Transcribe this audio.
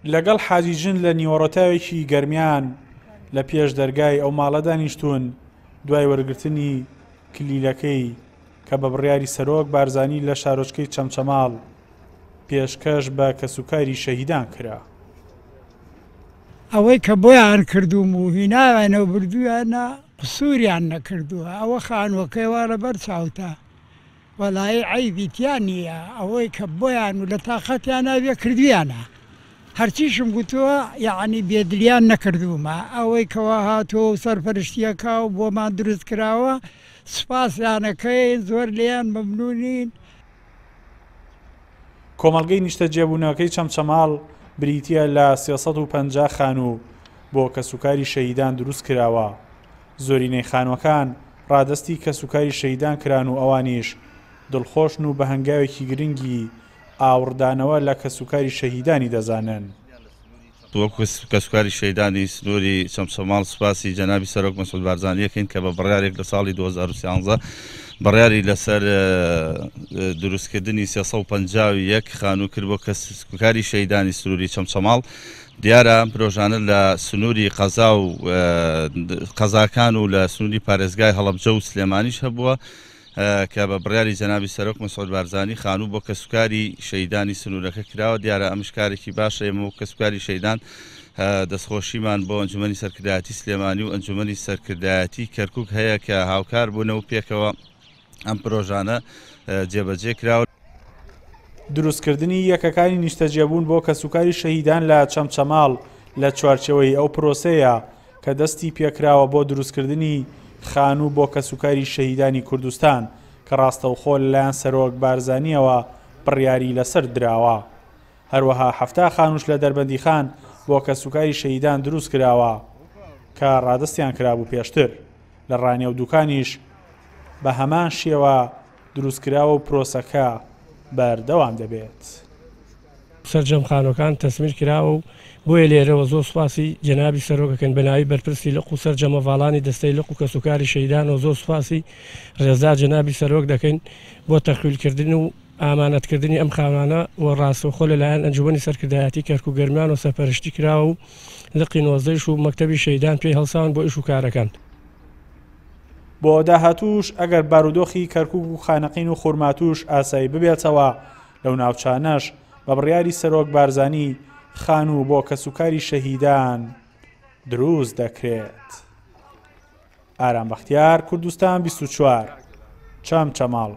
لەگەڵ حاجی ژن لە نیوەڕۆتاوێکی گەرمیان لە پێش دەرگای ئەو ماڵە دانیشتوون، دوای وەرگرتنی کلیلەکەی کە بە بڕیاری سەرۆک بارزانی لە شارۆچکەی چەمچەماڵ پێشکەش بە کەسوکاری شەهیدان کرا. ئەوەی کە بۆیان کردووم و هیناویانە و بردوویانە قسووریان نەکردووە، ئەوە خانووەکەی وا لەبەر چاوتە وەڵایی عەیبی تیا نییە، ئەوەی کە بۆیان و لە تاقەتیانا بێ کردوویانە، هەرچیشم گوتووە یەعنی بێدلیان نەکردوومە، ئەوەی کەوا هاتووە و سەرپەرشتییەکە و بۆمان دروست کراوە سوپاسیان ئەکەین، زۆر لێیان مەمنوونین. کۆمەڵگەی نیشتەجێبوونەکەی چەمچەماڵ بریتییە لە 350 خانوو بۆ کەسوکاری شەهیدان دروستکراوە، زۆرینەی خانووەکان ڕادەستی کەسوکاری شەهیدان کران و ئەوانیش دڵخۆشن و بە هەنگاوێکی گرنگی ئاوڕدانەوە لە کەسوکاری شەهیدانی دەزانن. وەک کەسوکاری شەهیدانی سنووری چەمچەماڵ سوپاسی جەنابی سەرۆک مەسعود بارزانی ئەکەین کە بە بڕیارێک لە ساڵی 2013 بڕیاری لەسەر دروستکردنی 351 خانوو کرد بۆ کەسوکاری شەهیدانی سنووری چەمچەماڵ. دیارە ئەم پرۆژانە لە سنووری قەزا و قەزاکان و لە سنووری پارێزگای هەڵەبجە و سلێمانیش هەبووە کە بە بڕیاری جەنابی سەرۆک مەسعود بارزانی خانوو بۆ کەسوکاری شەهیدانی سنوورەکە کراوە. دیارە ئەمش کارێکی باشە. ئێمە وەک کەسوکاری شەهیدان دەستخۆشیمان بۆ ئەنجومەنی سەرکردایەتی سلێمانی و ئەنجومەنی سەرکردایەتی کەرکوک هەیە کە هاوکار بوونە و پێکەوە ئەم پرۆژانە جێبەجێ کراوە. دروستکردنی یەکەکانی نیشتەجێبوون بۆ کەسوکاری شەهیدان لە چەمچەماڵ لە چوارچێوەی ئەو پرۆسەیە کە دەستی پێکراوە بۆ دروستکردنی خانوو بۆ کەسوکاری شەهیدانی کوردستان کە ڕاستەوخۆ لەلایەن سەرۆک بارزانییەوە بڕیاری لەسەر دراوە. هەروەها 70 خانووش لە دەربەندیخان بۆ کەسوکاری شەهیدان دروستکراوە کە ڕادەستیان کرابوو پێشتر. لە ڕانیە و دوکانیش بە هەمان شێوە دروستکراوە و پرۆسەکە بەردەوام دەبێت. سەرجەم خانوەکان تەسمیر کراوە و بۆیە لێرەوە زۆر سوپاسی جەنابی سەرۆک ئەکەین بەناوی بەرپرسی لق و سەرجەم هەڤاڵانی دەستەی لق و کەسوکاری شەهیدانەوە زۆر سوپاسی ڕێزدار جەنابی سەرۆک دەکەین بۆ تەخویل کردن و ئامانەت کردنی ئەم خانوانە و ڕاستەوخۆ لەلایەن ئەنجومەنی سەرکردایەتی کەرکوک گەرمیانەوە سەرپەرشتی کراوە و لقی نۆزدەیش و مەکتەبی شەهیدان پێی هەڵساون بۆ ئیش و کارەکان. بۆ داهاتووش ئەگەر بارودۆخی کەرکوک و خانەقین و خورماتووش ئاسایی ببێتەوە، لەو ناوچانەش بە بڕیاری سەرۆک بارزانی خانوو بۆ کەسوکاری شەهیدان دروست دەکرێت. ئارام بەختیار، کوردستان 24، چەمچەماڵ.